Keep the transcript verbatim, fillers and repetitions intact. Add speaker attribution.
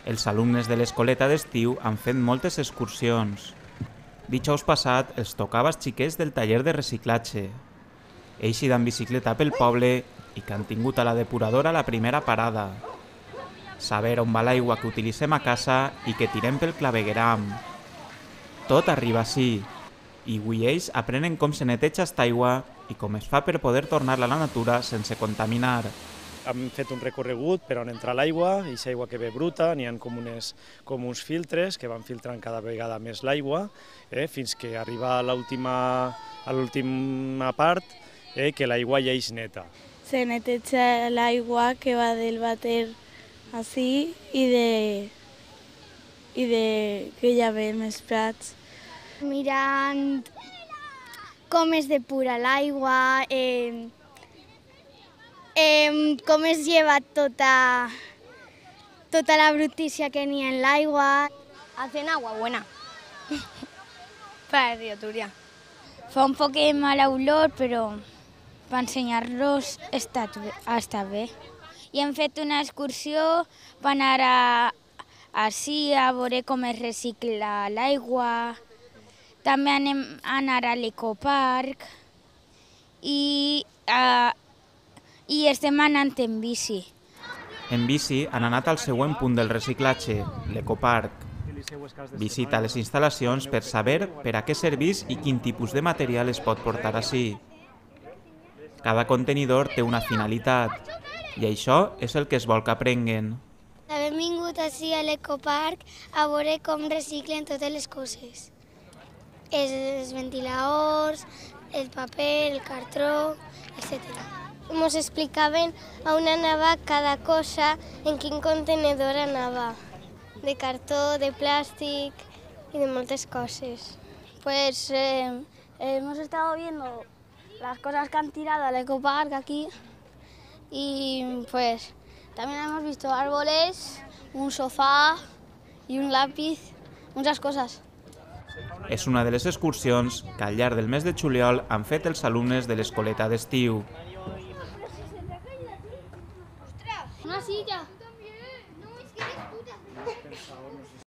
Speaker 1: Els alumnes de l'escoleta d'estiu han fet moltes excursions. Dijous passat els tocava als xiquets del taller de reciclatge. Ells hi dan bicicleta pel poble i que han tingut a la depuradora la primera parada. Saber on va l'aigua que utilitzem a casa i que tirem pel clavegueram. Tot arriba així, i avui ells aprenen com se neteja esta aigua i com es fa per poder tornar-la a la natura sense contaminar.
Speaker 2: Hem fet un recorregut per on entra l'aigua, i aquesta aigua que ve bruta, n'hi ha com, unes, com uns filtres que van filtrant cada vegada més l'aigua, eh, fins que arriba a l'última part, eh, que l'aigua ja és neta.
Speaker 3: Se neteja l'aigua que va del vàter així i de, i de que hi ha més prats.
Speaker 4: Mirant com es depura l'aigua, eh, eh, com es lleva tota, tota la brutícia que n'hi ha en l'aigua.
Speaker 5: Hacen agua buena. Para Río-Turia. Fa un poc de mala olor, però per ensenyar-los està, està bé. I hem fet una excursió per anar a, així a veure com es recicla l'aigua. També anem a anar a l'ecoparc i, uh, i estem anant en bici.
Speaker 1: En bici han anat al següent punt del reciclatge, l'ecoparc. Visita les instal·lacions per saber per a què serveix i quin tipus de material es pot portar així. Cada contenidor té una finalitat i això és el que es vol que aprenguen.
Speaker 4: Hem vingut així a l'ecoparc a veure com reciclen totes les coses. Els ventiladors, el paper, el cartró, etcètera. Ens explicaven on anava cada cosa, en quin contenedor anava. De cartó, de plàstic y de muchas cosas.
Speaker 5: Pues eh, hemos estado viendo las cosas que han tirado al ecopark aquí y pues también hemos visto árboles, un sofá y un lápiz, muchas cosas.
Speaker 1: És una de les excursions que al llarg del mes de juliol han fet els alumnes de l'escoleta d'estiu.
Speaker 4: Una silla.
Speaker 6: No, es que eres puta.